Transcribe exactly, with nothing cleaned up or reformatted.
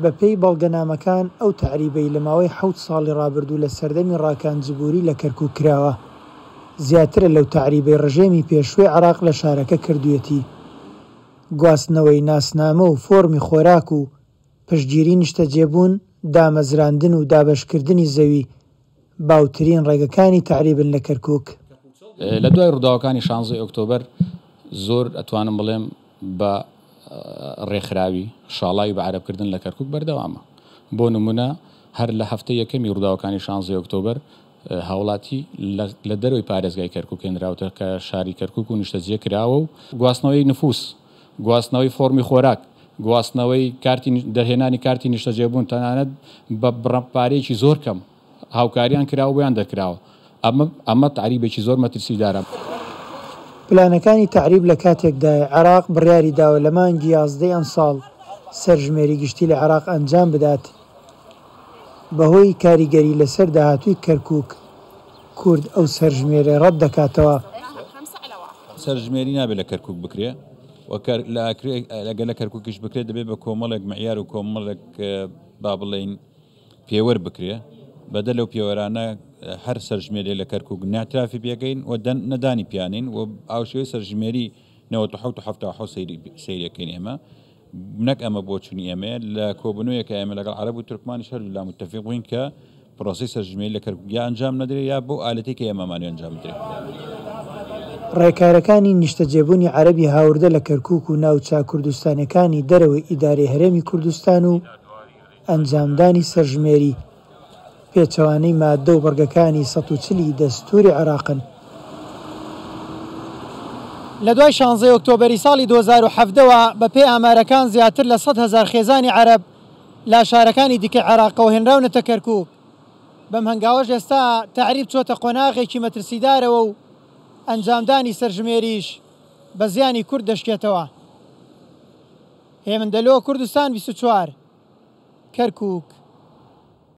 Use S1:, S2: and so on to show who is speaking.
S1: بەپێی بەڵگەنامەکان ئەو تەعریبەی لە ماوەی حەوت ساڵی ڕابردوو لە سەردەمی ڕاکان جبوری لە کەرکوک کراوە، زیاترە لەو تەعریبەی ڕژێمی پێشووی عێراق لە شارەکە کردوویەتی. گواستنەوەی ناسنامە و فۆرمی خۆراک و پشتگیری نیشتەجێبوون، دامەزراندن و دابەشکردنی زەوی باوترین ڕێگەکانی تەعریبن لە کەرکوک.
S2: لە دوای ڕووداوەکانی شانزەی ئۆکتۆبەر زۆر ئەتوانم بڵێم بە ڕێکخراوی شاڵاوی بە عەرەبکردن لە کەرکوک بەردەوامە. بۆ نمونە هەر لە هەفتەی یەکەمی ڕووداوەکانی شانزەی ئۆکتۆبەر هاوڵاتی لە دەرەوەی پارێزگای کەرکوک هێنراوتە کە شاری کەرکوک و نیشتەجێ کراوە و گواستنەوەی نفوس، گواستنەوەی فۆرمی خۆراک، گواستنەوەی کارتی دەرهێنانی کارتی نیشتەجێبوون، تەنانەت بە بڕە پارەیەکی زۆر کەم هاوکاریان کراوە بۆیان دەرکراوە. ئەمە ئەمە تەعریبێکی زۆر مەترسیدارە.
S1: پلانەکانی تەعریب لە کاتێکدایە عێراق بڕیاری داوە لە مانگی یازدەی ئەمساڵ سەرژمێری گشتی لە عێراق ئەنجام بدات. بەهۆی کاریگەری لەسەر داهاتووی کەرکوک، کورد ئەو سەرژمێرە ڕەت دەکاتەوە.
S3: سەرژمێری نابێت لە کەرکوک بکرێ و لەگەل لە کەرکوکیش بکرێت دەبێت بە کۆمەڵێک معیار و کۆمەڵێک با بڵێین پێوەر بکرێ. بەدە لەو پێوەرانە هەر سەرژمێری لە کەرکوک ناترافی پێکەین و نەدانی پیانین و ئاوشێوەی سەرژمێری نەوەت و حەوت و حەفتا و حەوت سەیرەکەین ئێمە. نەک ئەمە بۆچوونی ئێمەیە، لە کۆبوونەوەیەکە ئێمە لەگەڵ عەرەب و تورکمانیش هەردوو لا متفق بووین کە پرۆسەی سەرژمێری لە کەرکوک یا ئەنجام نەدرێت یا بۆ ئالەتێک کە ئێمەمانوێ ئەنجام بدرێت.
S1: ڕێکارەکانی نیشتەجێبوونی عەرەبی هاوردە لە کەرکوک و ناوچە کوردستانەکانی دەرەوەی ئیدارەی هەرێمی کوردستان و ئەنجامدانی سەرژمێری پێچەوانەی مادە و بڕگەکانی سەد و چلی دەستوری عێراقن. لە دوای شانزەی ئۆکتۆبەری ساڵی دوو هەزار و حەڤدەوە بەپێی ئامارەکان زیاتر لە سەد هەزار خێزانی عەرەب لە شارەکانی دیکە عێراقەوە هێنراونەتە کەرکوک. بەم هەنگاوەش ئێستا تەعریب چۆتە قۆناغێکی مەترسیدارەوە و ئەنجامدانی سەرژمێریش بە زیانی کورد دەشکێتەوە. هێمن دەلۆ، کوردستان بیست و چوار، کەرکوک.